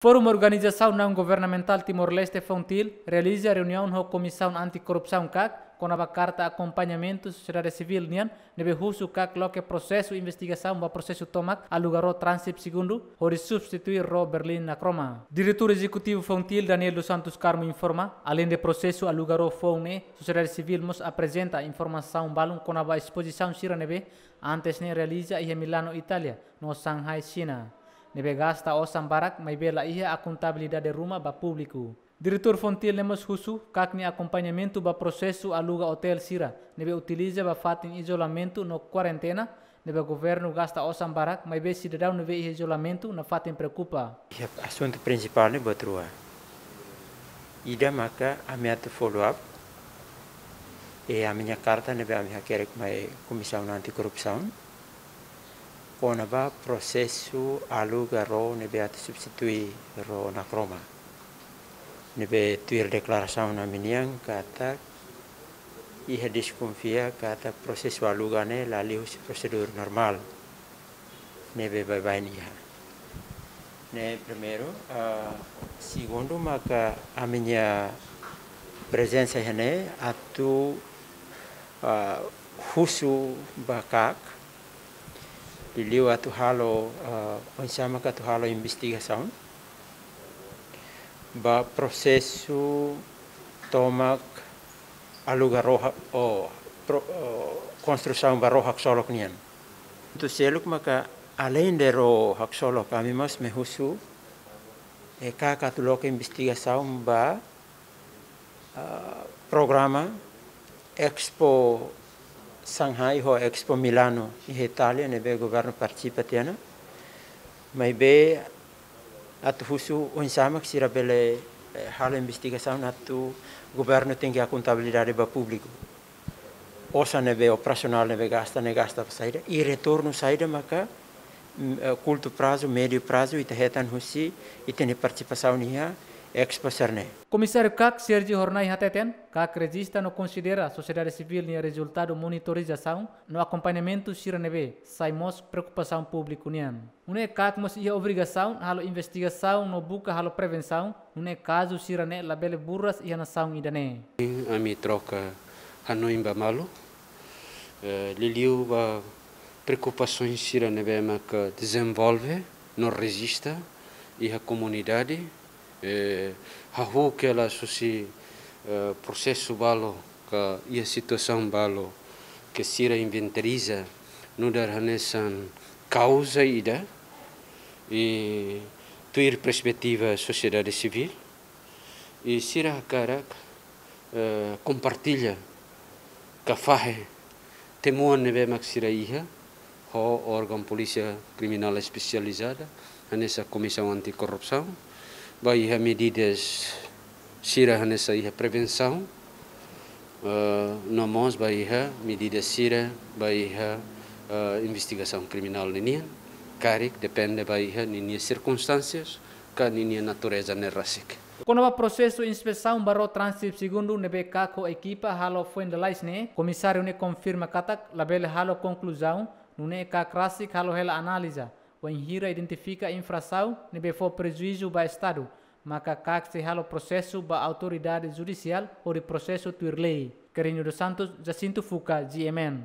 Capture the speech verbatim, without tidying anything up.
Forum Organizasaun Naun Governamentál Timor-Leste, FONGTIL, realiza reuniaun ho Komisaun Anti-Korrupsaun, KAK, kona-ba karta akompañamentu sosiedade sivíl nian ne'ebé husu KAK loke prosesu investigasaun ba prosesu tomak aluga ró Transip Segundu hodi substitui ró Berlin Nakroma. Diretór Ezekutivu FONGTIL, Daniel dos Santos Carmo, informa, aleinde prosesu aluga ró foun ne'e, sosiedade sivíl mós aprezenta informasaun balun kona-ba espozisaun sira ne'ebé antes ne'e realiza iha Milano, Itália, no Shanghai, Xina, ne'ebé gasta osan barak, maibé la iha akontabilidade ruma ba públiku. Diretór FONGTIL ne'e mós husu KAK nia akompañamentu ba prosesu aluga otél sira ne'ebé utiliza ba fatin izolamentu no kuarentena, ne'ebé governu gasta osan barak, maibé sidadaun ne'ebé iha izolamentu nafatin preokupa. Iha asuntu prinsipál ne'e buat rua. Ida maka ami atu follow up. E ami-nia karta ne'ebé ami hakerek mai Komisaun Anti-Korrupsaun kona-ba prosesu aluga ró ne'ebé atu substitui ró Nakroma. Ne'ebé tuir deklarasaun ami-nian katak iha deskonfia katak prosesu aluga ne'e la liu husi prosedur normál ne'ebé baibain iha. Ne'e primeiru, ah, segundu maka ami-nia prezensa iha ne'e atu, ah, husu ba KAK, liuliu atu halo, ah, oinsá maka atu halo investigasaun ba prosesu tomak aluga ró ha-, o, pro-, o, konstrusaun ba ró haksolok nian. Entaun seluk maka aleinde ró haksolok, ami mós mai husu, e, KAK atu loke investigasaun ba, ah, programa Expo Shanghai ho Expo Milano iha Itália ne'ebé governu partisipa tiha ona. Maibé atu husu oinsá mak sira bele, eh, halo investigasaun atu governu tenke akontabilidade ba públiku. Osan ne'ebé operasionál ne'ebé gasta, ne'e gasta ba saida, i retornu saida maka, mm, eh, kurtu prazu, médiu prazu, ita hetan husi ita-nia partisipasaun iha Expo sira-ne'e. Komisáriu KAK, Sergio Hornai, hateten, KAK rejista no konsidera sosiedade sivíl nia rezultadu monitorizasaun no akompañamentu sira ne'ebé sai mós preokupasaun públiku nian. Nune'e KAK mós iha obrigasaun halo investigasaun no buka halo prevensaun, nune'e kazu sira-ne'e labele buras iha nasaun ida-ne'e. Ami troka hanoin ba malu, eh, liuliu ba preokupasaun sira ne'ebé maka dezenvolve no rejista iha komunidade, eh, hahú ke la susi, eh, prosesu balu ka iha situasaun balu ke sira inventariza nu'udar hanesan kauza ida, i tuir perspetiva sosiedade sivíl, i sira hakarak, eh, kompartilla ka fahe temuan ne'ebé mak sira iha ho órgaun polísia kriminál espesializada, hanesan Komisaun Anti-Korrupsaun, ba iha medidas sira hanesan iha prevensaun, eh, no mós ba iha medidas sira ba iha, eh, investigasaun kriminál ninian, karik depende ba iha ninia sirkunstánsias ka ninia natureza ne'e rasik. Kona-ba prosesu inspesaun ba ró Transip Segundu ne'ebé KAK ho ekipa halo foin lalais ne'e, komisáriu ne'e konfirma katak labele halo konkluzaun, nune'e KAK rasik halo hela analiza, wainhira identifika infrasaun ne'ebé fó prejuízu ba Estadu, maka KAK sei halo prosesu ba autoridade judisiál hodi prosesu tuir lei. Quirino dos Santos, Jacinto Fuca, G M N.